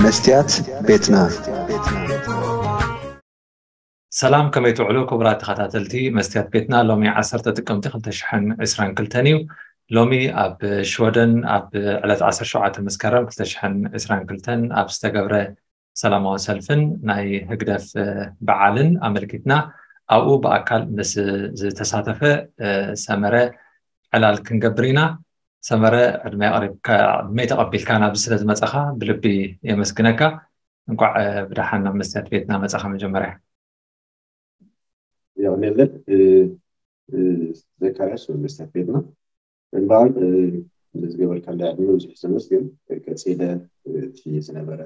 መስትያት ቤትና። ሰላም፣ ከመይ ትውዕሉ ክቡራት ተኸታተልቲ መስትያት ቤትና? ሎሚ ዓሰርተ ጥቅምቲ ክልተ ሽሕን ዕስራን ክልተን እዩ። ሎሚ ኣብ ሽወደን ኣብ ዕለት ዓሰርተ ሸውዓተ መስከረም ክልተ ሽሕን ዕስራን ክልተን ኣብ ዝተገብረ ሰላማዊ ሰልፍን ናይ ህግደፍ በዓልን ኣመልኪትና ኣብኡ ብኣካል ምስ ዝተሳተፈ ሰመረ ዕላል ክንገብር ኢና። ሰመረ፣ ዕድመይ ተቐቢልካ ናብዚ ስለ ዝመጻኻ ብልቢ የመስግነካ። እንኳዕ ብደሓን ናብ መስትያት ቤትና መጻኻ። መጀመርያ ያው ኔለን ዘካርያስ መስትያት ቤትና እምበኣር ንዝገበርካለይ ዕድመ ብዙሕ ዘመስግን። ቀጺለ እቲ ዝነበረ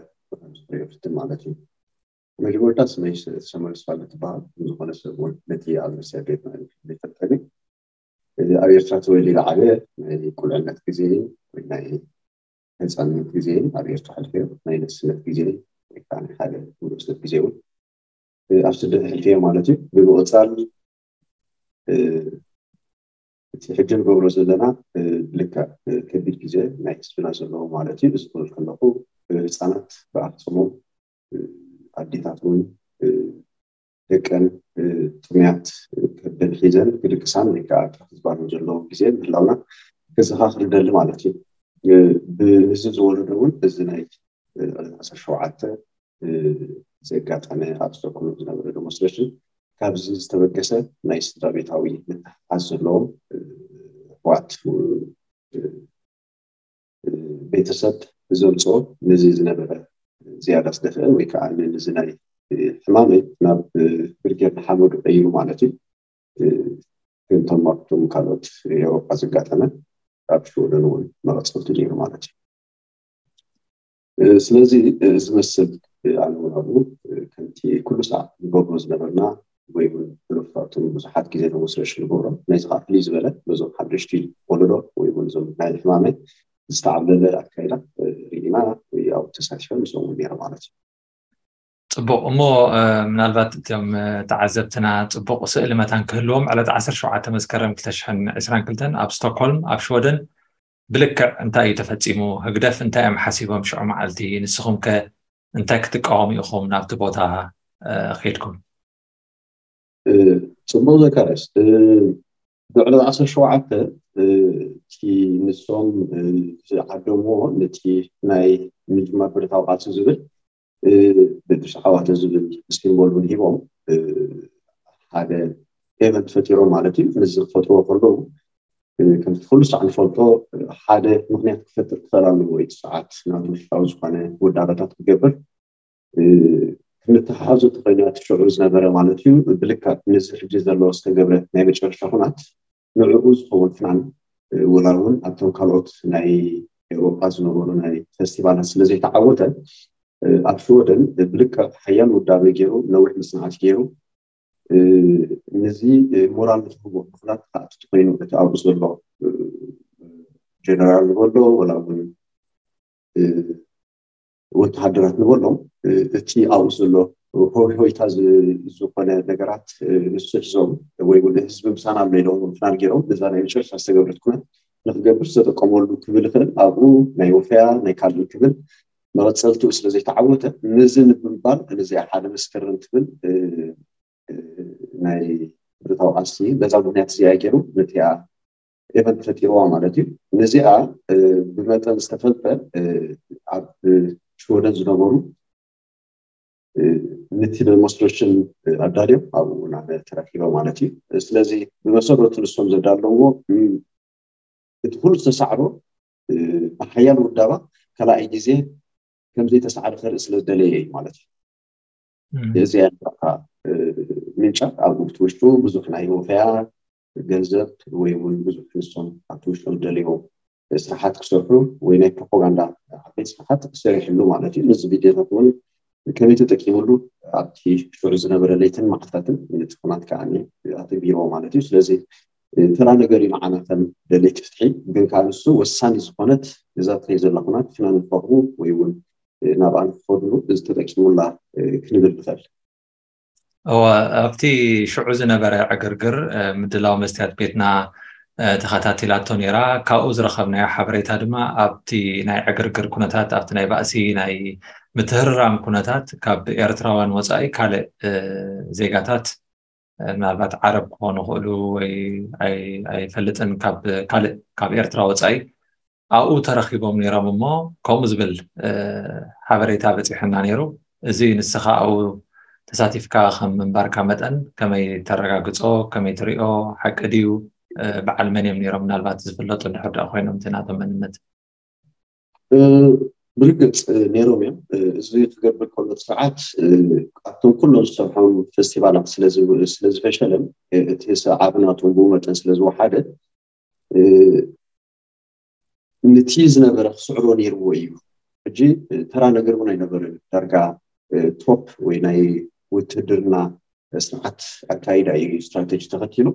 ፍትን ማለት እዩ። መጀመርታ ስመይ ተሰመር ስፋል ትበሃል። ዝኾነ ሰብ እውን ነቲ ኣብ መስትያት ቤትና ይፈልጠኒ። ኣብ ኤርትራ ተወሊደ ዓበየ። ናይ ቁልዕነት ግዜ ወይ ናይ ህፃንነት ግዜ ኣብ ኤርትራ ሕልፈዮ። ናይ ንእስነት ግዜ ወይ ከዓ ናይ ሓደ ንእስነት ግዜ እውን ኣብ ስደት ሕልፈዮ ማለት እዩ። ብምቕፃል እቲ ሕጂ ንገብሮ ዘለና ልክዕ ከቢድ ግዜ ናይ ህዝብና ዘለዎ ማለት እዩ። እዚ ክብል ከለኹ ህፃናት ብኣፍፅሞም ኣዴታት እውን ደቀን ጥሙያት ከብደን ሒዘን ክድቅሳን ወይ ከዓ ክሕዝባን ዘለዎ ግዜ ምህላውና ክዘኻኽር ደሊ ማለት እዩ። ብህዝብ ዝወለዶ እውን እዚ ናይ ዕለት ዓሰርተ ሸውዓተ ዘጋጠመ ኣብ ስቶክሆልም ዝነበረ ዴሞንስትሬሽን ካብዚ ዝተበገሰ ናይ ስድራ ቤታዊ ምትሕሓዝ ዘለዎም ኣሕዋት ቤተሰብ ዘምፅኦ ነዚ ዝነበረ ዝያዳ ዝደፍአ ወይ ከዓ ነዚ ናይ ሕማመይ ናብ ብርጌድ ንሓመዱ ቀይሩ ማለት እዩ። ከምቶም ኣብቶም ካልኦት ኤውሮጳ ዘጋጠመ ኣብ ሽወደን እውን መቐፀልቲ ነይሩ ማለት እዩ። ስለዚ እዚ መስል ኣነ እውን ኣብኡ ከምቲ ኩሉ ሰዓት ንገብሮ ዝነበርና ወይ እውን ብሉፋቱን ብዙሓት ግዜ ዴሞንስትሬሽን ንገብሮ ናይዚ ከዓ ፍልይ ዝበለ ነዞም ሓደሽቲ ወለዶ ወይ እውን እዞም ናይ ሕማመይ ዝተዓብለለ ኣካይዳ ርኢና ወይ ኣብኡ ተሳቲፈ ምስኦም እውን ነይረ ማለት እዩ። ፅቡቕ እሞ ምናልባት እቶም ተዓዘብትና ፅቡቕ ስእሊ መታን ክህልዎም ዕለት ዓሰርተ ሸውዓተ መስከረም ክልተ ሽሕን ዕስራን ክልተን ኣብ ስቶክሆልም ኣብ ሽወደን ብልክዕ እንታይ እዩ ተፈፂሙ? ህግደፍ እንታይ እዮም ሓሲቦም ሽዑ መዓልቲ? ንስኹም ከ እንታይ ክትቃወሙ ኢኹም ናብቲ ቦታ ከይድኩም? ፅቡቕ ዘካርያስ፣ ብዕለት ዓሰርተ ሸውዓተ እቲ ንሶም ዝዓደምዎ ነቲ ናይ ምጅማር ብረታዊ ቃልሲ ዝብል ብዱስ ዓዋተ ዝብል ሲምቦል እውን ሂቦም ሓደ ኤቨንት ፈጢሮም ማለት እዩ። ነዚ ክፈጥርዎ ከለዉ ከምቲ ኩሉ ሳዕ ንፈልጦ ሓደ ምክንያት ክፈጥር ክኽእል ኣለዎ። እቲ ሰዓት ናቱ ውሽጣዊ ዝኾነ ውዳበታት ክገብር ክንተሓሓዞ ተኾይኑ እቲ ሽዑ ዝነበረ ማለት እዩ። ብልክዕ ነዚ ሕጂ ዘሎ ዝተገብረ ናይ መጨረሻ ኩናት ንዕኡ ዝኸውን ፍናን ወላ እውን ኣብቶም ካልኦት ናይ ኤውሮጳ ዝነበሩ ናይ ፈስቲቫላት ስለ ዘይተዓወተ ኣብ ሽወደን ብልክዕ ሓያል ውዳበ ገይሩ ነዊሕ መፅናዕቲ ገይሩ ነዚ ሞራል ንክህቦ ምክንያት ክኣቱ ተኮይኑ እቲ ኣብኡ ዘሎ ጀነራል ንበሎ ወላ እውን ወተሃደራት ንበሎም እቲ ኣብኡ ዘሎ ሆይ ሆይታ ዝኾነ ነገራት ንሱ ሒዞም ወይ እውን ህዝቢ ምሳና ኣሎ ኢሎም ፍናን ገይሮም ነዛ ናይ መጨረሻ ዝተገብረት ኩነት ንክገብር ዝተጠቀመሉ ክብል ይኽእል። ኣብኡ ናይ ወፈያ ናይ ካልእ ክብል መቐፀልትኡ ስለ ዘይተዓወተ ነዚ ንምባል ነዚኣ ሓደ መስከረም ትብል ናይ ብረታዊ ቃልሲ በዛ ምክንያት እዚኣ ገይሩ ነቲኣ ኤቨንት ፈጢርዋ ማለት እዩ። ነዚኣ ብመጠን ዝተፈልጠ ኣብ ሽወደን ዝነበሩ ነቲ ዴሞንስትሬሽን ኣዳልዮም ኣብኡ ናብ ተረኪበ ማለት እዩ። ስለዚ ብመሰረቱ ንሶም ዘዳለዎ እቲ ኩሉ ዝተሳዕሮ ብሓያል ውዳባ ካልኣይ ግዜ ከምዘይተሳዕረ ከርኢ ስለ ዝደለየ እዩ ማለት እዩ። እዚ ያለካ ምንጫ ኣብ ውሽጡ ብዙሕ ናይ ወፈያ ገንዘብ ወይ እውን ብዙሕ ንሶም ኣብቲ ውሽጦም ዝደለይዎ ስራሓት ክሰርሑ ወይ ናይ ፕሮፓጋንዳ ዓበይቲ ስራሓት ክሰሪሕሉ ማለት እዩ። ነዚ ቪድዮታት እውን ከመይ ተጠቂምሉ ኣብቲ ሽዑ ዝነበረ ለይትን መዓልታትን ነቲ ኩናት ከዓ ኣተግቢርዎ ማለት እዩ። ስለዚ ተራ ነገር እዩ ንዓና ከም ደለይቲ ፍትሒ። ግን ከዓ ንሱ ወሳኒ ዝኾነት እዛ ትኸይ ዘላ ኩናት ፍናን ንክረኽቡ ወይ እውን ናብኣ ንክኸድሉ እዚ ተጠቂሙላ ክንብል ንኽእል። እወ፣ ኣብቲ ሽዑ ዝነበረ ዕግርግር ምድላው መስትያት ቤትና ተኸታቲላቶ ነይራ። ካብኡ ዝረኸብናዮ ሓበሬታ ድማ ኣብቲ ናይ ዕግርግር ኩነታት፣ ኣብቲ ናይ ባእሲ ናይ ምትህርራም ኩነታት ካብ ኤርትራውያን ወፃኢ ካልእ ዜጋታት፣ ምናልባት ዓረብ ክኾኑ ይኽእሉ ወይ ኣይፈልጥን፣ ካብ ካልእ ካብ ኤርትራ ወፃኢ ኣብኡ ተረኺቦም ነይሮም እሞ ከምኡ ዝብል ሓበሬታ በፂሑና ነይሩ። እዚ ንስኻ ኣብኡ ተሳቲፍካ ከም ምንባርካ መጠን ከመይ ተረጋግፆ፣ ከመይ ትሪኦ፣ ሓቂ ድዩ፣ በዓል መን እዮም ነይሮም፣ ምናልባት ዝፍለጡ እንድሕር ደኣ ኮይኖም እቲ ናቶም መንነት? ብርግፅ ነይሮም እዮም። እዚ ክገብር ከሎ እቲ ስርዓት ኣብቶም ኩሎም ዝሰርሖም ፌስቲቫላት ስለዝፈሸለን እቲ ሰዓቢ ናቶም ብኡ መጠን ስለዝወሓደ ነቲ ዝነበረ ክስዕሮ ነይርዎ እዩ። ሕጂ ተራ ነገር እውን ኣይነበረን። ዳርጋ ቶፕ ወይ ናይ ውትድርና ስርዓት ኣካይዳ እዩ ስትራቴጂ ተኸቲሉ።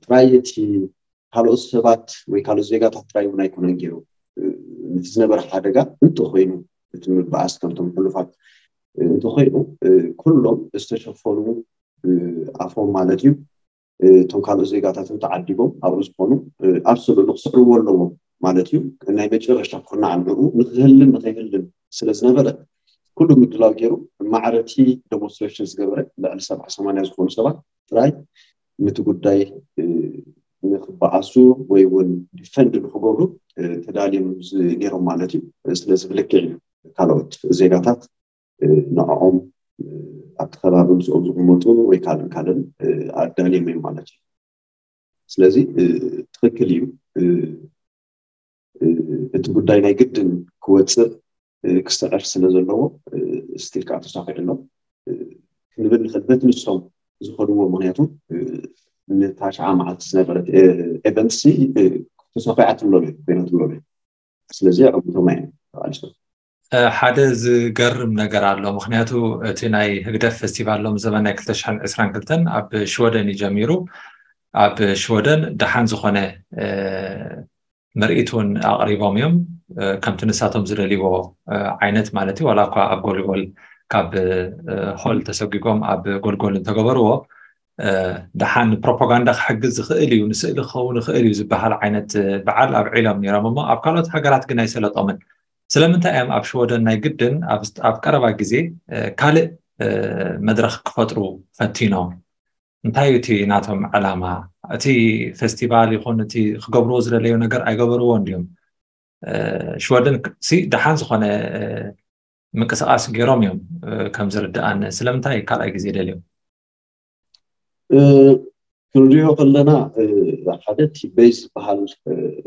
ጥራይ እቲ ካልኦት ሰባት ወይ ካልኦት ዜጋታት ጥራይ እውን ኣይኮነን ገይሩ። ነቲ ዝነበረ ሓደጋ እንተኮይኑ እቲ ምብኣስ ከምቶም ሕሉፋት እንተኮይኑ ኩሎም ዝተሸፈኑ ኣፎም ማለት እዩ። እቶም ካልኦት ዜጋታት ተዓዲጎም ኣብኡ ዝኾኑ ኣብ ስእሉ ክስዕርዎ ኣለዎም ማለት እዩ። ናይ መጨረሻ ኩርናዕ ንዕኡ ንክህልን ንከይህልን ስለዝነበረ ኩሉ ምድላው ገይሩ ማዕረቲ ዴሞንስትሬሽን ዝገበረ ልዕሊ ሰብዓ ሰማንያ ዝኾኑ ሰባት ጥራይ ነቲ ጉዳይ ንክበኣሱ ወይ እውን ዲፈንድ ንክገብሩ ተዳልዮም ነይሮም ማለት እዩ። ስለዚ ብልክዕ እዩ ካልኦት ዜጋታት ንዕኦም ኣብቲ ከባቢ ምስኦም ዝቕመጡ ወይ ካልእን ካልእን ኣዳልዮም እዮም ማለት እዩ። ስለዚ ትኽክል እዩ። እቲ ጉዳይ ናይ ግድን ክወፅእ ክስዕር ስለ ዘለዎ ስቲል ከዓ ተሳኺዑ ኣሎ ክንብል ንኽእል። በቲ ንሶም ዝኸድዎ ምክንያቱ ነታ ሸዓ መዓልቲ ዝነበረት ኤቨንትሲ ተሳኺዓትሎም እየ ኮይናትሎም እየ። ስለዚ ኣዕጉቶም እዮም ተቓሊሶም። ሓደ ዝገርም ነገር ኣሎ። ምክንያቱ እቲ ናይ ህግደፍ ፌስቲቫል ሎም ዘበን ናይ ክልተ ሽሕን ዕስራን ክልተን ኣብ ሽወደን እዩ ጀሚሩ። ኣብ ሽወደን ደሓን ዝኾነ ምርኢት እውን ኣቕሪቦም እዮም። ከምቲ ንሳቶም ዝደልይዎ ዓይነት ማለት እዩ። ዋላ እኳ ኣብ ጎልጎል ካብ ሆል ተሰጒጎም ኣብ ጎልጎል እንተገበርዎ ደሓን ፕሮፓጋንዳ ክሕግዝ ዝኽእል እዩ፣ ንስእሊ ክኸውን ይኽእል እዩ ዝበሃል ዓይነት በዓል ኣብዒሎም ነይሮም እሞ ኣብ ካልኦት ሃገራት ግን ኣይሰለጦምን። ስለምንታይ እዮም ኣብ ሽወደን ናይ ግድን ኣብ ቀረባ ግዜ ካልእ መድረኽ ክፈጥሩ ፈቲኖም? እንታይ እዩ እቲ ናቶም ዕላማ? እቲ ፌስቲቫል ይኹን እቲ ክገብርዎ ዝደለዩ ነገር ኣይገበርዎ እንዲዮም። ሽወደን ሲ ደሓን ዝኾነ ምንቅስቃስ ገይሮም እዮም ከም ዝርድኣኒ። ስለምንታይ ካልኣይ ግዜ ደልዮም? ክንሪኦ ከለና ሓደ እቲ ቤዝ ዝበሃል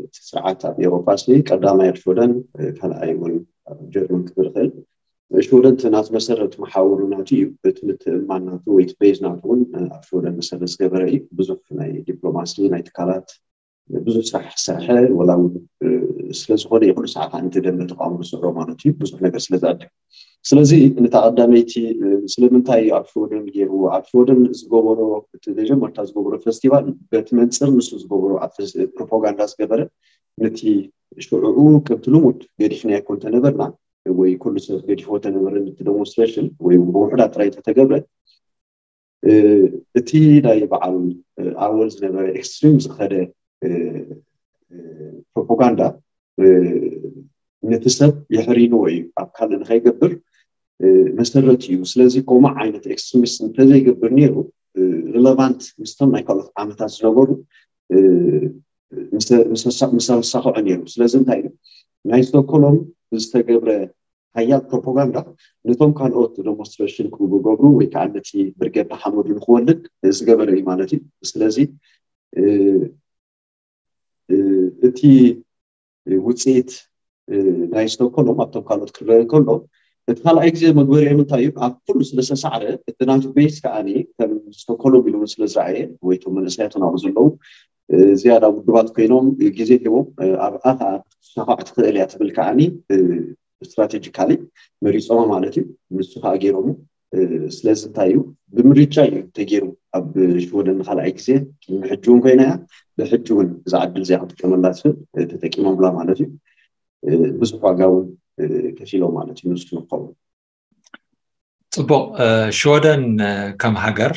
እቲ ስርዓት ኣብ ኤውሮፓ ሲ ቀዳማይ ኣብ ሽወደን ካልኣይ እውን ኣብ ጀርመን ክብል ይኽእል። ሽወደን እቲ ናት መሰረት መሓውሩ ናቱ እዩ። እቲ ምትእምማን ናቱ ወይ እቲ ቤዝ ናቱ እውን ኣብ ሽወደን መሰረት ዝገበረ እዩ። ብዙሕ ናይ ዲፕሎማሲ ናይ ትካላት ብዙሕ ስራሕ ዝሰርሐ ወላ እውን ስለዝኾነ ይኹሉ ሰዓት ኣንቲ ደንበ ተቃውሞ ዝስዕሮ ማለት እዩ ብዙሕ ነገር ስለ ዝኣድግ ስለዚ ነታ ቀዳመይቲ ስለምንታይ እዩ ኣብ ሽወደን ገይርዎ ኣብ ሽወደን ዝገበሮ እቲ መጀመርታ ዝገበሮ ፌስቲቫል በቲ መንፅር ንሱ ዝገበሮ ኣብ ፕሮፓጋንዳ ዝገበረ ነቲ ሽዑኡ ከምቲ ልሙድ ገዲፍና ይኮን ተነበርና ወይ ኩሉ ሰብ ገዲፎ ተነበረ ነቲ ዴሞንስትሬሽን ወይ ብውሕዳት ጥራይ ተተገብረ እቲ ናይ በዓል ኣወል ዝነበረ ኤክስትሪም ዝኸደ ፕሮፓጋንዳ ነቲ ሰብ የሕሪንዎ እዩ ኣብ ካልእ ንኸይገብር መሰረት እዩ ስለዚ ከምኡ ዓይነት ኤክስትሪሚስት እንተዘይገብር ነይሩ ሪለቫንት ምስቶም ናይ ካልኦት ዓመታት ዝነበሩ ምስ ኣሳኽዑ ነይሩ ስለዚ እንታይ እዩ ናይ ስቶኮሎም ዝተገብረ ሓያል ፕሮፓጋንዳ ነቶም ካልኦት ዴሞንስትሬሽን ክገብሩ ወይ ከዓ ነቲ ብርጌድ ንሓመዱ ንክወልድ ዝገበረ እዩ ማለት እዩ ስለዚ እቲ ውፅኢት ናይ ስቶኮሎም ኣብቶም ካልኦት ክረአ እንከሎ እቲ ካልኣይ ግዜ መግበሪኦም እንታይ እዩ ኣብ ኩሉ ስለ ዝተሳዕረ እቲ ናቱ ቤስ ከዓ ከም ስቶኮሎም ኢሉ እውን ስለ ዝረኣየ ወይ ቶም መንእሰያት ናብኡ ዘለዉ ዝያዳ ውድባት ኮይኖም ግዜ ሂቦም ኣብኣ ከዓ ክትሳኻዕ ትኽእል እያ ትብል ከዓ ስትራቴጂካሊ መሪፆማ ማለት እዩ ንሱ ከዓ ገይሮም ስለዚ እንታይ እዩ ብምርጫ እዩ ተገይሩ ኣብ ሽወደን ንካልኣይ ግዜ ቅድሚ ሕጂ እውን ኮይና እያ ብሕጂ እውን እዛ ዕድል እዚኣ ክጥቀመላ ትኽእል ተጠቂሞምላ ማለት እዩ ብዙሕ ዋጋ እውን ከፊሎም ማለት እዩ ንሱ ንክኸውን ፅቡቅ ሽወደን ከም ሃገር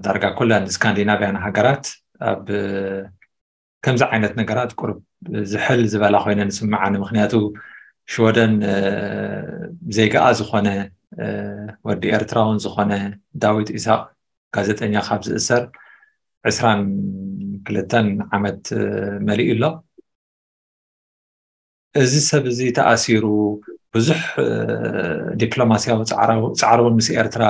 ዳርጋ ኩለን ስካንዲናቪያን ሃገራት ኣብ ከምዚ ዓይነት ነገራት ቁርብ ዝሕል ዝበላ ኮይነን ዝስምዓኒ። ምክንያቱ ሽወደን ዜጋኣ ዝኾነ ወዲ ኤርትራውን ዝኾነ ዳዊት ኢሳቅ ጋዜጠኛ ካብ ዝእሰር ዕስራን ክልተን ዓመት መሊኡ ኣሎ። እዚ ሰብ እዚ ተኣሲሩ ብዙሕ ዲፕሎማሲያዊ ፃዕራውን ምስ ኤርትራ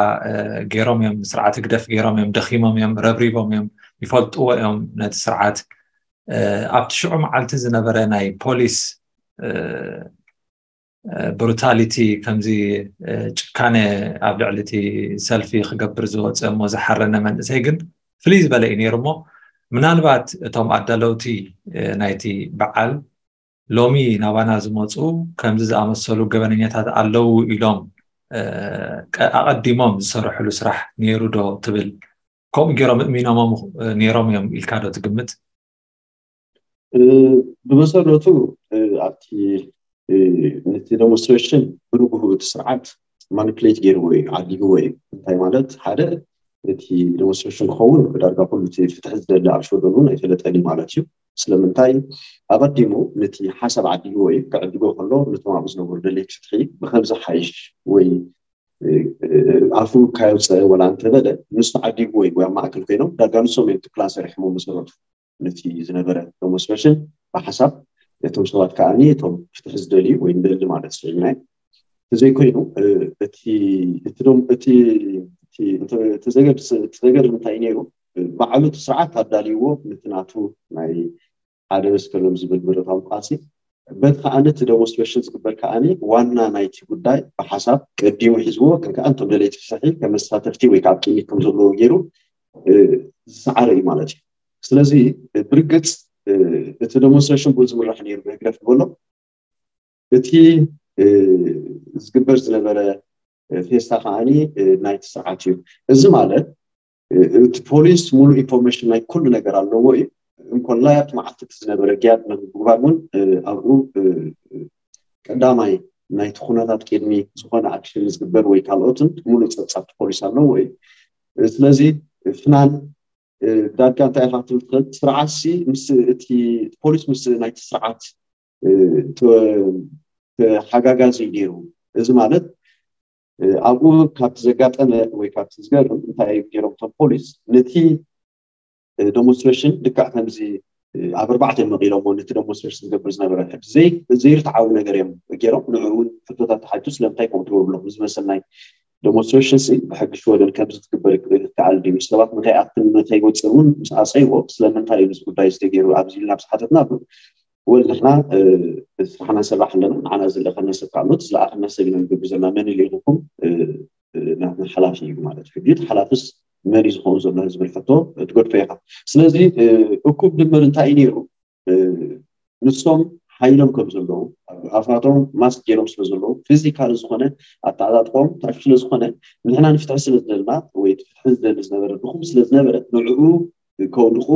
ገይሮም እዮም፣ ስርዓት ህግደፍ ገይሮም እዮም፣ ደኺሞም እዮም፣ ረብሪቦም እዮም፣ ይፈልጥዎ እዮም ነቲ ስርዓት። ኣብቲ ሽዑ መዓልቲ ዝነበረ ናይ ፖሊስ ብሩታሊቲ፣ ከምዚ ጭካነ ኣብ ልዕሊ እቲ ሰልፊ ክገብር ዝወፀ እሞ ዝሓረነ መንእሰይ ግን ፍልይ ዝበለ እዩ ነይሩ። እሞ ምናልባት እቶም ኣዳለውቲ ናይቲ በዓል ሎሚ ናባና ዝመፁ ከምዚ ዝኣመሰሉ ገበነኛታት ኣለዉ ኢሎም ኣቐዲሞም ዝሰርሕሉ ስራሕ ነይሩ ዶ ትብል? ከምኡ ገይሮም እሚኖሞም ነይሮም እዮም ኢልካ ዶ ትግምት? ብመሰረቱ ኣብቲ ነቲ ዴሞንስትሬሽን ብንግሁ እቲ ስርዓት ማኒፕሌት ገይርዎ እዩ፣ ዓዲግዎ እዩ። እንታይ ማለት? ሓደ፣ እቲ ዴሞንስትሬሽን ክኸውን ዳርጋ ኩሉ እቲ ፍትሒ ዝደሊ ኣብ ሽወደን እውን ኣይፈለጠን እዩ ማለት እዩ። ስለምንታይ? ኣቐዲሙ ነቲ ሓሳብ ዓዲግዎ እዩ። ክዕድጎ ከሎ ነቶም ኣብኡ ዝነበሩ ደለይቲ ፍትሒ ብከም ዝሓይሽ ወይ ኣፉ ካየውፀ ወላ እንተበለ ንሱ ዓዲግዎ እዩ። ኣብ ማእከል ኮይኖም ዳርጋ ንሶም እዮም እቲ ፕላን ሰሪሖሞ መሰረቱ ነቲ ዝነበረ ዴሞንስትሬሽን ብሓሳብ እቶም ሰባት ከዓኒ እቶም ፍትሒ ዝደልዩ ወይ ንደሊ ማለት ስዒብናይ ተዘይኮይኑ እቲ ዘገርም እንታይ ነይሩ? ባዕሉ እቲ ስርዓት ኣዳልይዎ ነቲ ናቱ ናይ ሓደ መስከረም ዝብል ብረታዊ ቃልሲ በቲ ከዓኒ እቲ ዴሞንስትሬሽን ዝግበር ከዓኒ ዋና ናይቲ ጉዳይ ብሓሳብ ቀዲሙ ሒዝዎ ከም ከዓ እንቶም ደለይቲ ፍትሒ ከም መሳተፍቲ ወይ ከዓ ቅድሚት ከም ዘለዉ ገይሩ ዝሰዓረ እዩ ማለት እዩ። ስለዚ ብርግፅ እቲ ዴሞንስትሬሽን ብኡ ዝምራሕ ነይሩ ብህግደፍ ዝበሎ እቲ ዝግበር ዝነበረ ፌስታ ከዓኒ ናይቲ ስርዓት እዩ። እዚ ማለት እቲ ፖሊስ ሙሉእ ኢንፎርሜሽን ናይ ኩሉ ነገር ኣለዎ እዩ። እንኮላይ ኣብቲ መዓልቲ እቲ ዝነበረ ግያት ንምግባር እውን ኣብኡ ቀዳማይ ናይቲ ኩነታት ቅድሚ ዝኾነ ኣክሽን ዝግበር ወይ ካልኦትን ሙሉእ ፀብፃብ ፖሊስ ኣለዎ እዩ። ስለዚ ፍናን ዳርጋ እንታይ ኢኻ ክትብል ትኽእል? ስርዓትሲ ምስ እቲ ፖሊስ ምስ ናይቲ ስርዓት ተሓጋጋዚ እዩ ነይሩ። እዚ ማለት ኣብኡ ካብቲ ዘጋጠመ ወይ ካብቲ ዝገርም እንታይ እዮም ገይሮም እቶም ፖሊስ ነቲ ዴሞንስትሬሽን ልክዕ ከምዚ ኣብ ኣርባዕተ እዮም መቂሎሞ ነቲ ዴሞንስትሬሽን ዝገብር ዝነበረ ዘይርትዓዊ ነገር እዮም ገይሮም። ንዑ እውን ሕቶታት ተሓቱ ስለምንታይ ከምኡ ትገብሩ ኣለኹም ዝመሰል ናይ ዴሞንስትሬሽን ሲ ብሕጊ ሽወደን ከምዚ ክትግበር ይከኣል ድዩ? ሰባት ንከይኣክል ንከይወፅእ እውን ምስ ኣፀይዎ ስለምንታይ እዩ እዚ ጉዳይ ዝተገይሩ ኣብዚ ኢልና ምስ ሓተትና ወል ንሕና ስራሕና ንሰርሕ ኣለና። ንዓና ዝለኣኸና ሰብ ካልኦት ዝለኣኸና ሰብ ኢና ንገብር ዘለና። መን ይልኢኹም? ናትና ሓላፊ እዩ ማለት ሕጂ ሓላፍስ መን እዩ ዝኸውን ዘሎ ዝብል ሕቶ ትገድፎ ኢኻ። ስለዚ እኩብ ድምር እንታይ እዩ ነይሩ? ንሶም ሓይሎም ከም ዘለዉ ኣፋቶም ማስክ ገይሮም ስለ ዘለዉ ፊዚካሊ ዝኾነ ኣተዓጣጥቆም ታሽ ስለ ዝኾነ ንሕና ንፍትሒ ስለ ዝደልና ወይ ፍትሒ ዝደሊ ዝነበረ ድኹም ስለ ዝነበረ ንዕኡ ከውድቑ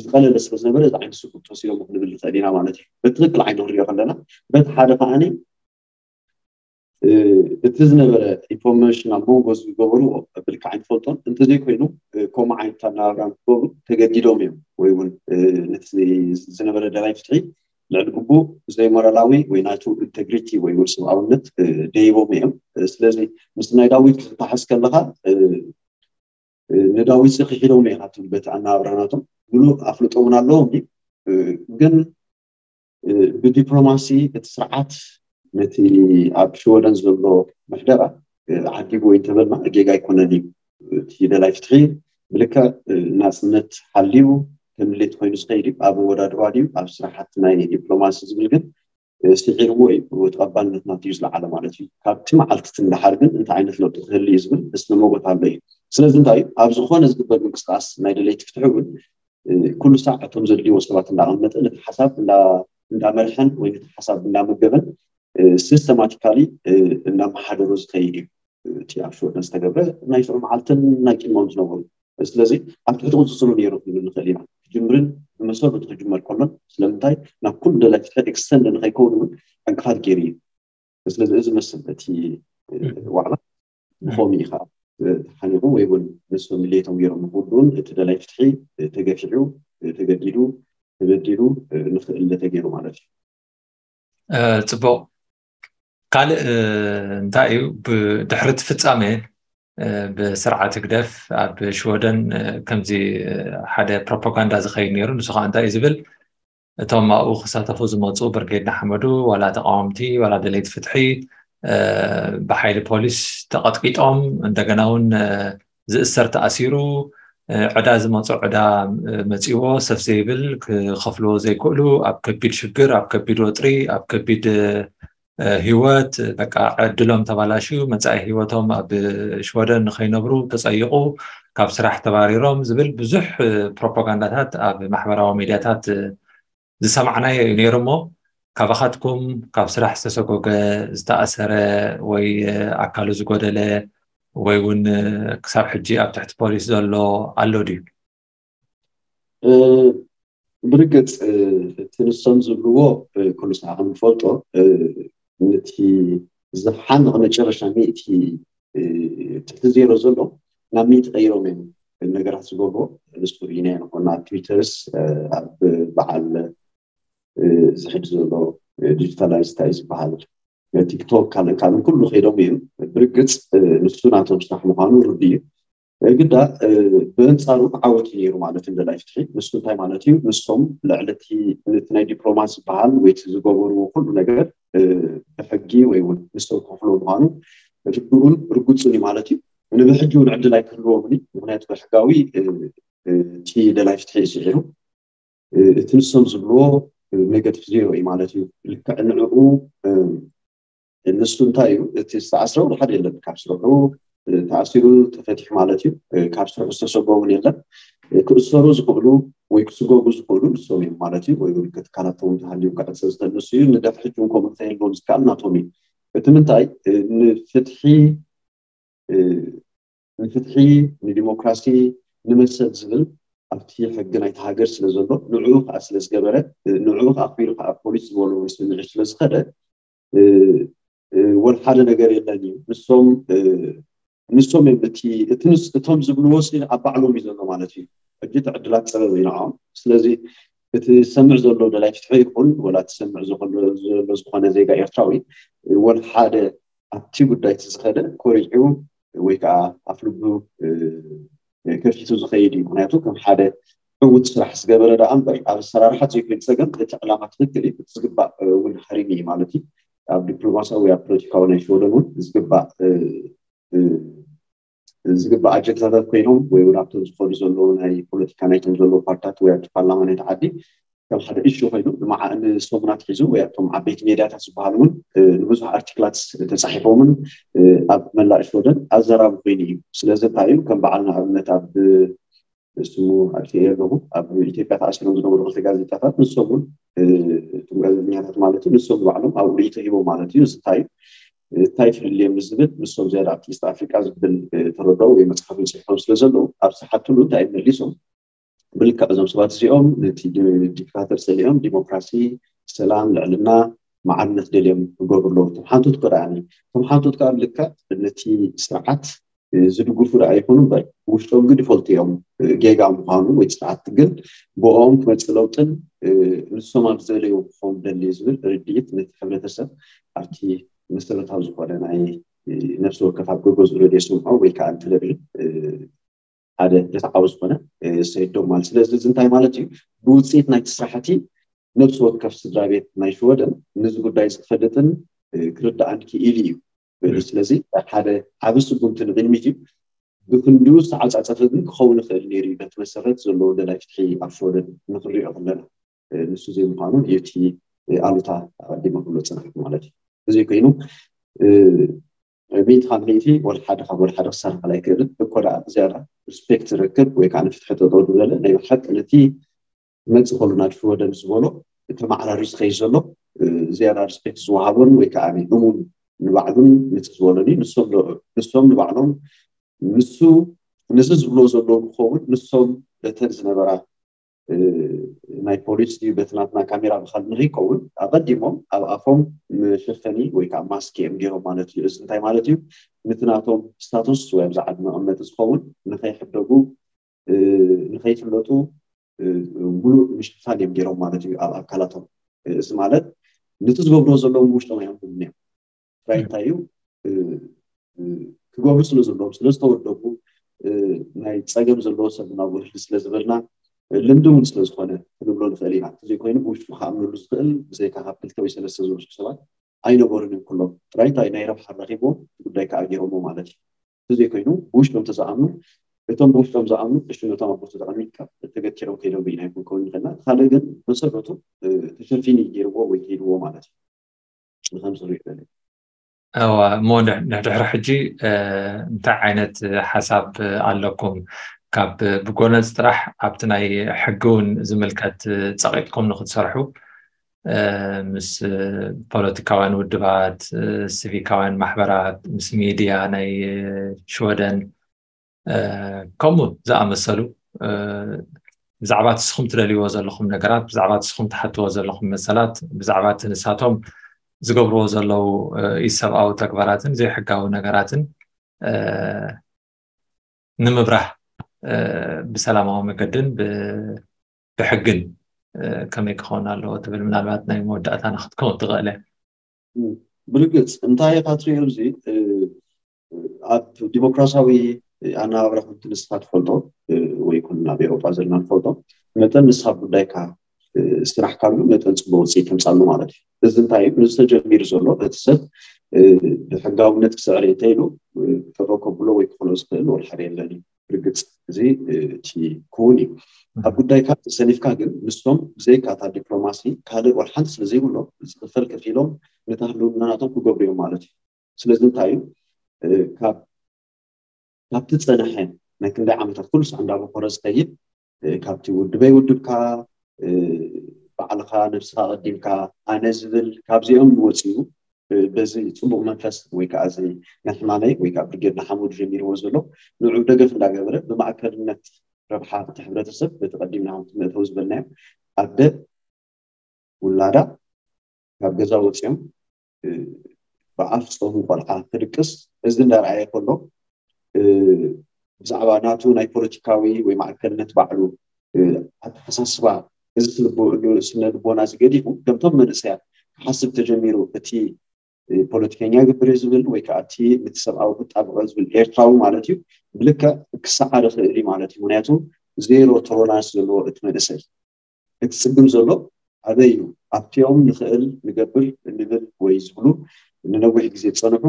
ዝቐለለ ስለ ዝነበረ እዚ ዓይነት ስጉምቲ ወሲዶም ክንብል ንኽእል ኢና ማለት እዩ። በትክክል ዓይኒ ክንሪኦ ከለና በቲ ሓደ ከዓኒ እቲ ዝነበረ ኢንፎርሜሽን ኣብ መንጎ ዝገበርዎ ብልክዕ ኣይንፈልጦን። እንተዘይኮይኑ ከምኡ ዓይነት ኣነባብራ ንክገብሩ ተገዲዶም እዮም ወይ እውን ነቲ ዝነበረ ደላይ ፍትሒ ልዕሊ ግቡእ ዘይሞራላዊ ወይ ናቱ ኢንተግሪቲ ወይ እውን ሰብኣውነት ደይቦም እዮም። ስለዚ ምስ ናይ ዳዊት ክትተሓዝ ከለካ ንዳዊት ሲ ክሒዶም ኢኻ ትብል በቲ ኣነባብራ ናቶም ሙሉእ ኣፍልጦ እውን ኣለዎም ግን ብዲፕሎማሲ እቲ ስርዓት ነቲ ኣብ ሽወደን ዘሎ ምሕደራ ዓዲጉ ወይ እንተበልና ጌጋ ኣይኮነን እዩ። እቲ ደላይ ፍትሒ ብልክዕ ናፅነት ሓልዩ ከም ድሌት ኮይኑ ዝኸይድ እዩ። ኣብ ኣወዳድባ ድዩ ኣብ ስራሓት ናይ ዲፕሎማሲ ዝብል ግን ስዒርዎ እዩ። ተቐባልነት ናቱ እዩ ዝለዓለ ማለት እዩ። ካብቲ መዓልቲ እቲ ንደሓር ግን እንታይ ዓይነት ለውጢ ክህሉ እዩ ዝብል እስነ ሞጎት ኣሎ እዩ። ስለዚ እንታይ ኣብ ዝኾነ ዝግበር ምንቅስቃስ ናይ ደለይቲ ፍትሒ እውን ኩሉ ሳዕ እቶም ዘድልይዎ ሰባት እንዳቐመጠ ነቲ ሓሳብ እንዳመርሐን ወይ ነቲ ሓሳብ እንዳመገበን ሲስተማቲካሊ እንዳመሓደሮ ዝኸይድ እዩ። እቲ ኣብ ሽወደን ዝተገብረ ናይ ሽዑ መዓልትን ናይ ቅድሞም ዝነበሩ ስለዚ ኣብ ትሕቲ ቁፅፅሩ ነይሩ ክንብል ንኽእል ኢና። ክጅምርን ብመሰረቱ ክጅመር ከሎን ስለምንታይ ናብ ኩሉ ደላይ ፍትሒ ኤክስተንድ ንኸይከውን እውን ዕንቅፋት ገይሩ እዩ። ስለዚ እዚ መስል እቲ ዋዕላ ብኸምኡ ኢኻ ተሓኒቑ ወይ እውን ንሶም ድሌቶም ገይሮም ንክውድኡን እቲ ደላይ ፍትሒ ተገፊዑ ተገዲዱ፣ ተበዲሉ፣ ንኽእል ተገይሩ ማለት እዩ። ጽቡቕ። ካልእ እንታይ እዩ? ብድሕሪ እቲ ፍጻመ ብስርዓት ህግደፍ ኣብ ሽወደን ከምዚ ሓደ ፕሮፓጋንዳ ዝኸይድ ነይሩ። ንሱ ከዓ እንታይ እዩ ዝብል? እቶም ኣብኡ ክሳተፉ ዝመፁ ብርጌድ ንሓመዱ ዋላ ተቃወምቲ ዋላ ደለይቲ ፍትሒ ብሓይሊ ፖሊስ ተቐጥቂጦም፣ እንደገና እውን ዝእሰር ተኣሲሩ፣ ዕዳ ዝመፆ ዕዳ መፂዎ ሰፍ ዘይብል ክኸፍልዎ ዘይክእሉ፣ ኣብ ከቢድ ሽግር፣ ኣብ ከቢድ ወጥሪ፣ ኣብ ከቢድ ህይወት በቃ ዕድሎም ተባላሽዩ መፃኢ ህይወቶም ኣብ ሽወደን ንኸይነብሩ ተፀይቑ፣ ካብ ስራሕ ተባሪሮም ዝብል ብዙሕ ፕሮፓጋንዳታት ኣብ ማሕበራዊ ሚዲያታት ዝሰማዕናዮ እዩ ነይሩ። እሞ ካባኻትኩም ካብ ስራሕ ዝተሰጎገ፣ ዝተኣሰረ ወይ ኣካሉ ዝጎደለ ወይ እውን ክሳብ ሕጂ ኣብ ትሕቲ ፖሊስ ዘሎ ኣሎ ድዩ? ብርግፅ እቲ ንሶም ዝብልዎ ኩሉ ሰዓ ከም ንፈልጦ ነቲ ዝሓንቕ መጨረሻ ሚእቲ ትሕቲ ዜሮ ዘሎ ናብ ሚእቲ ቀይሮም እዮም ነገራት ዝገብሮ። ንሱ ርኢና ንኮና ኣብ ትዊተርስ ኣብ በዓል ዝሕድ ዘሎ ዲጂታላይዝ እንታይ ዝበሃል ቲክቶክ ካልእ ካልእ ኩሉ ከይዶም እዩ። ብርግፅ ንሱ ናቶም ስራሕ ምዃኑ ርዱ እዩ። ግዳ ብእንፃሩ ዓወት እዩ ነይሩ ማለት እንደላይ ፍትሒ። ንሱ እንታይ ማለት እዩ? ንሶም ልዕሊ እቲ ናይ ዲፕሎማሲ ዝበሃል ወይ ዝገበርዎ ኩሉ ነገር ብሕጊ ወይ እውን ንሶም ክኸፍሎ ምዃኑ ርዱእን ርጉፅን እዩ ማለት እዩ። ንብሕጂ እውን ዕድል ኣይክህልዎምን እዩ። ምክንያቱ ብሕጋዊ እቲ ደላይ ፍትሒ እዩ ስዒሩ። እቲ ንሶም ዝብልዎ ኔጋቲቭ ዜሮ እዩ ማለት እዩ። ልክዕ ንዕኡ ንሱ እንታይ እዩ እቲ ዝተኣስረ እውን ሓደ የለን። ካብ ስርሑ ተኣሲሩ ተፈቲሑ ማለት እዩ። ካብ ስርሑ ዝተሰጎ እውን የለን። ክእሰሩ ዝኽእሉ ወይ ክስጎጉ ዝኽእሉ ንሶም እዮም ማለት እዩ። ወይ ውልቀ ትካላቶም ተሃልዮም ክዕፀ ዝኽእል ንሱ እዩ። ንድሕሪ ሕጂ እውን ከምኡ ክተህልዎም ዝከኣል ናቶም እዩ። እቲ ምንታይ ንፍትሒ ንፍትሒ ንዲሞክራሲ ንመሰል ዝብል ኣብቲ ሕጊ ናይቲ ሃገር ስለ ዘሎ ንዕኡ ከዓ ስለ ዝገበረ ንዕኡ ከዓ ኣኽቢሩ ከዓ ፖሊስ ዝበሎ ስምዒት ስለ ዝኸደ ወል ሓደ ነገር የለን እዩ። ንሶም ንሶም እዮም እቲ እቲ እቶም ዝብልዎ ሲ ኣብ ባዕሎም እዩ ዘሎ ማለት እዩ። ሕጂ እቲ ዕድላት ፀበብ እዩ ንዕኦም። ስለዚ እቲ ዝሰምዕ ዘሎ ደላይ ፍትሒ ይኹን ወላ እቲ ዝሰምዕ ዘሎ ዝኾነ ዜጋ ኤርትራዊ ወል ሓደ ኣብቲ ጉዳይ እቲ ዝኸደ ኮሪዑ ወይ ከዓ ኣፍልቡ ከፊቱ ዝኸይድ እዩ። ምክንያቱ ከም ሓደ ዕውት ስራሕ ዝገበረ ደኣ እምበር ኣብ ኣሰራርሓ ዘይኮይን ፀገም እቲ ዕላማ ትክክል እዩ። ዝግባእ እውን ሃሪሚ እዩ ማለት እዩ። ኣብ ዲፕሎማሲያዊ ኣብ ፖለቲካዊ ናይ ሽወደን እውን ዝግባእ ዝግባእ ኣጀንዳታት ኮይኖም ወይ እውን ኣብቶም ዝኸዱ ዘለዉ ናይ ፖለቲካ ናይቶም ዘለዉ ፓርትታት ወይ ኣብቲ ፓርላማ ናይቲ ዓዲ ከም ሓደ እሹ ኮይኑ ንሰሙናት ሒዙ ወይ ኣብቶም ዓበይቲ ሜድያታት ዝበሃሉ እውን ንብዙሕ ኣርቲክላት ተፃሒፎምን ኣብ መላእ ሽወደን ኣዘራቢ ኮይኑ እዩ። ስለዚ እንታይ እዩ ከም በዓል ንኣብነት ኣብ ስሙ ኣጥፊኤ ኣለኹ ኣብ ኢትዮጵያ ተኣሲሮም ዝነበሩ ክልተ ጋዜጣታት ንሶም እውን እቶም ጋዜጠኛታት ማለት እዩ ንሶም ንባዕሎም ኣብ ርእይቶ ሂቦም ማለት እዩ። እዚ እንታይ እዩ እንታይ ፍልልዮም ንዝብል ንሶም ዝያዳ ኣብቲ ኢስት ኣፍሪቃ ዝብል ተረድኦ ወይ መፅሓፍን ፅሒፎም ስለ ዘለዉ ኣብ ዝሓትሉ እንታይ መሊሶም ብልክዕ እዞም ሰባት እዚኦም ነቲ ዲክታተር ፀሊኦም ዲሞክራሲ፣ ሰላም፣ ልዕልና፣ ማዕርነት ደልዮም ክገብሩ ኣለዉ። እቶም ሓንቶት ከ ደኣኒ እቶም ሓንቶት ከዓ ብልክዕ ነቲ ስርዓት ዝድግፉ ደኣ ይኹኑ እምበር ውሽጦም ግን ይፈልጡ እዮም ጌጋ ምዃኑ ወይ ስርዓት ግን ብኦም ክመፅእ ለውጥን ንሶም ኣብ ዝደለይዎ ክኸውን ደሊ ዝብል ርድኢት ነቲ ሕብረተሰብ ኣብቲ መሰረታዊ ዝኾነ ናይ ነፍሲ ወከፍ ኣብ ገገዝኡ ረድዮ ስምዖ ወይ ከዓ ቴሌቪዥን ሓደ ርትዓዊ ዝኾነ ሰይዶም ማለት ስለዚ እዚ እንታይ ማለት እዩ ብውፅኢት ናይቲ ስራሕቲ ነፍሲ ወከፍ ስድራ ቤት ናይ ሽወደን ነዚ ጉዳይ እዚ ክፈልጥን ክርዳኣን ክኢሉ እዩ። ስለዚ ሓደ ዓቢ ስጉምቲ ንቕድሚት እዩ። ብክንዲኡ ዝተዓፃፀፈ ግን ክኸውን ይኽእል ነይሩ እዩ በቲ መሰረት ዘለዎ ደላይ ፍትሒ ኣብ ሽወደን ንክንሪኦ ከለና ንሱ ዘይምዃኑ እቲ ኣሉታ ኣቐዲመ ክብሎ ዝፀናሕኩ ማለት እዩ። እዚ ኮይኑ ሚእቲ ካብ ሚእቲ ወላ ሓደ ካብ ወላ ሓደ ክሳርሐል ኣይክእልን እኮ ደኣ ብዝያዳ ሪስፔክት ዝረክብ ወይ ከዓ ንፍትሒ ጠጠው ዝበለ ናይ ብሓቂ ነቲ መፅእ ከሉ ናብ ሽወደን ዝበሎ ተመዓራርዩ ዝኸይድ ዘሎ ዝያዳ ሪስፔክት ዝወሃቦን ወይ ከዓ እሙን ንባዕሉን ነቲ ዝበሎን እዩ። ንሶም ንባዕሎም ንሱ ነዚ ዝብሎ ዘለዉ ክኸውን ንሶም በተን ዝነበራ ናይ ፖሊስ ድዩ በቲ ናትና ካሜራ ብካል ንኸይከውን ኣቐዲሞም ኣብ ኣፎም መሸፈኒ ወይ ከዓ ማስክ እዮም ገይሮም ማለት እዩ። እዚ እንታይ ማለት እዩ? ነቲ ናቶም ስታቱስ ወይ ኣብዚ ዓዲ መቐመጢ ዝኸውን ንኸይሕደጉ ንኸይፍለጡ እ፣ ሙሉእ ምሽፋን እዮም ገይሮም ማለት እዩ ኣብ ኣካላቶም። እ፣ እዚ ማለት ነቲ ዝገብርዎ ዘለዎም ብውሽጦም ኣየንብቡን እዮም። ጥራይ እንታይ እዩ፣ እ፣ እ፣ ክገብሩ ስለ ዘለዎም፣ ስለ ዝተወደቡ፣ እ፣ ናይ ጸገም ዘለዎ ሰብ ናብኡ ህልፍ ስለ ዝበልና፣ እ፣ ልምዲ እውን ስለ ዝኾነ ክንብሎ ንኽእል ኢና። እንተዘይኮይኑ ብውሽጡ ክኣምነሉ ዝኽእል ብዘይካ ካብ ክልተ ወይ ሰለስተ ዝበዝሑ ሰባት ኣይነበሩን እዮም ኩሎም። ጥራይ እንታይ ናይ ረብሓ ረኺቦም እቲ ጉዳይ ከዓ ገይሮሞ ማለት እዩ። እንተዘይኮይኑ ብውሽጦም ተዝኣምኑ፣ እቶም ብውሽጦም ዝኣምኑ እሺ ነቶም ኣቦ ተጠቐሚ ተገቲሮም ከይዶም ብኢና ይኮን ክኸውን ይኽእልና። እቲ ካልእ ግን መሰረቱ፣ እ፣ ተሸፊኒ ገይርዎ ወይ ከይድዎ ማለት እዩ። ንኸምስሉ ይኽእል እዩ። እዋ እሞ ንድሕሪ ሕጂ እንታይ ዓይነት ሓሳብ ኣለኩም? ካብ ብጎነጽ ጥራሕ ኣብቲ ናይ ሕጊ እውን ዝምልከት ጸቂጥኩም ንክትሰርሑ ምስ ፖለቲካውያን ውድባት፣ ሲቪካውያን ማሕበራት፣ ምስ ሚድያ ናይ ሽወደን ከምኡ ዝኣመሰሉ ብዛዕባ እቲ ንስኹም ትደልይዎ ዘለኹም ነገራት፣ ብዛዕባ እቲ ንስኹም ትሓትዎ ዘለኹም መሰላት፣ ብዛዕባ እቲ ንሳቶም ዝገብርዎ ዘለዉ ኢሰብኣዊ ተግባራትን ዘይሕጋዊ ነገራትን ንምብራህ ብሰላማዊ መገድን ብሕግን ከመይ ክኸውን ኣለዎ ትብል ምናልባት ናይ መወዳእታና ክትከውን ትኽእል እያ። ብርግፅ እንታይ ኢኻ ትሪኦ? እዚ ኣብ ዲሞክራሲያዊ ኣነባብራ ከምቲ ንስኻ ትፈልጦ ወይ ኩን ኣብ ኤውሮጳ ዘለና ንፈልጦ መጠን ንስኻ ጉዳይካ ስራሕካሉ መጠን ፅቡቅ ውፅኢት ተምፃሉ ማለት እዩ። እዚ እንታይ እዩ? ንዝተጀሚሩ ዘሎ እቲ ሰብ ብሕጋውነት ክስዕር እንተኢሉ ጠጠው ከብሎ ወይ ክኽሎ ዝኽእል ወላ ሓደ የለን እዩ። ብርግፅ እዚ እቲ ክውን እዩ። ኣብ ጉዳይካ ተሰሊፍካ ግን ንሶም ብዘይካ እታ ዲፕሎማሲ ካልእ ዋላ ሓንቲ ስለ ዘይብሎም ዝኽፈል ከፊሎም ነታ ህልውና ናቶም ክገብሩ እዮም ማለት እዩ። ስለዚ እንታይ እዩ ካብ ካብቲ ዝፀንሐ ናይ ክንደይ ዓመታት ኩሉ ሳዕ እንዳበኮረ ዝኸይድ ካብቲ ውድበይ ውድብካ ባዕልኻ ነብስኻ ቀዲምካ ኣነ ዝብል ካብዚኦም ወፂኡ በዚ ፅቡቅ መንፈስ ወይ ከዓ እዚ ናይ ሕማመይ ወይ ከዓ ብርጌድ ንሓመዱ ጀሚርዎ ዘሎ ንዑ ደገፍ እንዳገበረ ብማእከልነት ረብሓ እቲ ሕብረተሰብ በቲ ቀዲምና መእተዊ ዝበልናዮ ኣደ ውላዳ ካብ ገዛ ወፂኦም ብኣፍ ፆሙ ቆልዓ ክድቅስ እዚ እንዳረኣየ ከሎ ብዛዕባ ናቱ ናይ ፖለቲካዊ ወይ ማእከልነት ባዕሉ ኣተሓሳስባ እዚ ስነ ልቦና እዚ ገዲፉ ከምቶም መንእሰያት ክሓስብ ተጀሚሩ እቲ ፖለቲከኛ ግብር ዝብል ወይ ከዓ እቲ ነቲ ሰብኣዊ ክጣብቀ ዝብል ኤርትራዊ ማለት እዩ ብልክዕ ክሰዓር ይኽእል እዩ ማለት እዩ። ምክንያቱ ዜሮ ቶሎራንስ ዘለዎ እቲ መንእሰይ እቲ ፅግም ዘሎ ኣበይ እዩ? ኣብቲኦም ንኽእል ንገብር እንብል ወይ ዝብሉ ንነዊሕ ግዜ ዝፀንሑ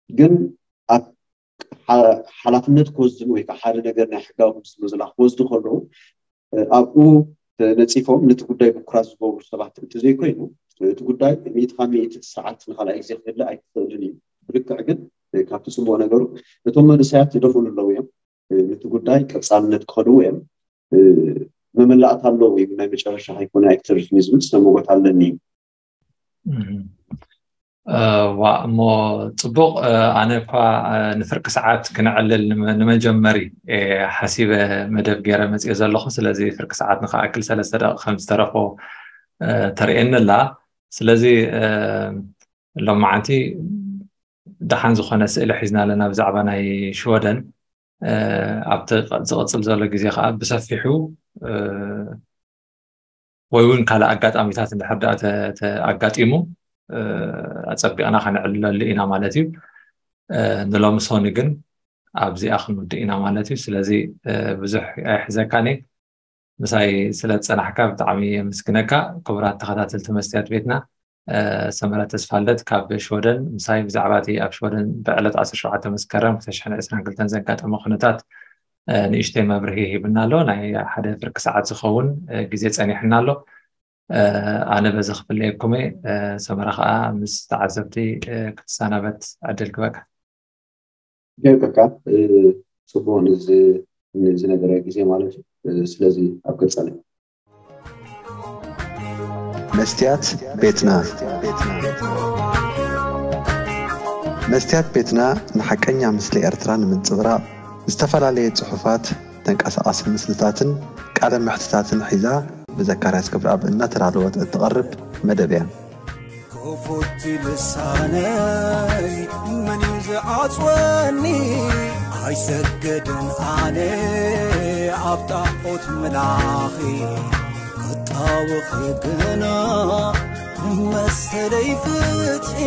ግን ኣብ ሓላፍነት ክወስድን ወይ ከዓ ሓደ ነገር ናይ ሕጋዊ ክምስሉ ዝላ ክወስዱ ከለዉ ኣብኡ ነፂፎም ነቲ ጉዳይ ብኩራት ዝገብሩ ሰባት እንተዘይኮይኑ እቲ ጉዳይ ሚእቲ ካብ ሚእቲ እቲ ስርዓት ንካልኣይ ግዜ ክህለ ኣይክኽእልን እዩ። ብልክዕ ግን ካብቲ ፅቡቅ ነገሩ እቶም መንእሰያት ይደኽእሉ ኣለዉ እዮም። ነቲ ጉዳይ ቀፃልነት ክኸድዎ እዮም። መመላእታ ኣለዎ ወይ ናይ መጨረሻ ከይኮነ ኣይክተርፍን ዝብል ዝተመጎት ኣለኒ። ዋ እሞ ፅቡቅ። ኣነ እኳ ንፍርቂ ሰዓት ክነዕልል ንመጀመሪ ሓሲበ መደብ ገይረ መፅኦ ዘለኹ። ስለዚ ፍርቂ ሰዓት ንክኣክል ሰለስተ ደቂ ከም ዝተረፎ ተርእየኒ ኣላ። ስለዚ ሎማዓንቲ ደሓን ዝኾነ ስእሊ ሒዝና ኣለና ብዛዕባ ናይ ሽወደን። ኣብቲ ዝቕፅል ዘሎ ግዜ ከዓ ብሰፊሑ ወይ እውን ካልእ ኣጋጣሚታት እንድሕር ደኣ ኣጋጢሙ ኣፀቢቕና ከነዕልለሉ ኢና ማለት እዩ። ንሎሚ ሶኒ ግን ኣብዚኣ ክንውድእ ኢና ማለት እዩ። ስለዚ ብዙሕ ኣይሕዘካን እየ። ምሳይ ስለ ዝፀናሕካ ብጣዕሚ የመስግነካ። ክቡራት ተኸታተልቲ መስትያት ቤትና ሰመረ ተስፋልደት ካብ ሽወደን ምሳይ ብዛዕባ እቲ ኣብ ሽወደን ብዕለት ዓሰርተ ሸውዓተ መስከረም ክልተ ሽሕን ዕስራን ክልተን ዘጋጠመ ኩነታት ንእሽተይ መብርሂ ሂብና ኣሎ። ናይ ሓደ ፍርቂ ሰዓት ዝኸውን ግዜ ፀኒሕና ኣሎ። ኣነ በዚ ክፍለየኩም እየ። ሰመረ ከዓ ምስ ተዓዘብቲ ክትሰናበት ዕድል ክበካ። ይገብረካ ጽቡቅ ንዝነበረ ግዜ ማለት እዩ። ስለዚ ኣብ ቀጻሊ መስትያት ቤትና መስትያት ቤትና ንሓቀኛ ምስሊ ኤርትራ ንምንጽብራቕ ዝተፈላለየ ጽሑፋት፣ ተንቀሳቓሲ ምስልታትን ቃለ መሕትታትን ሒዛ ብዘካርያስ ክብረኣብ እናተዳለወት እትቐርብ መደብ እያ። ክፉት ልሳነይ መን እዩ ዝዓጽወኒ? ኣይሰገድን ኣነ ኣብ ጣዖት ምላኺ ክጣወኺ ግና ንመሰለይ ፍትሒ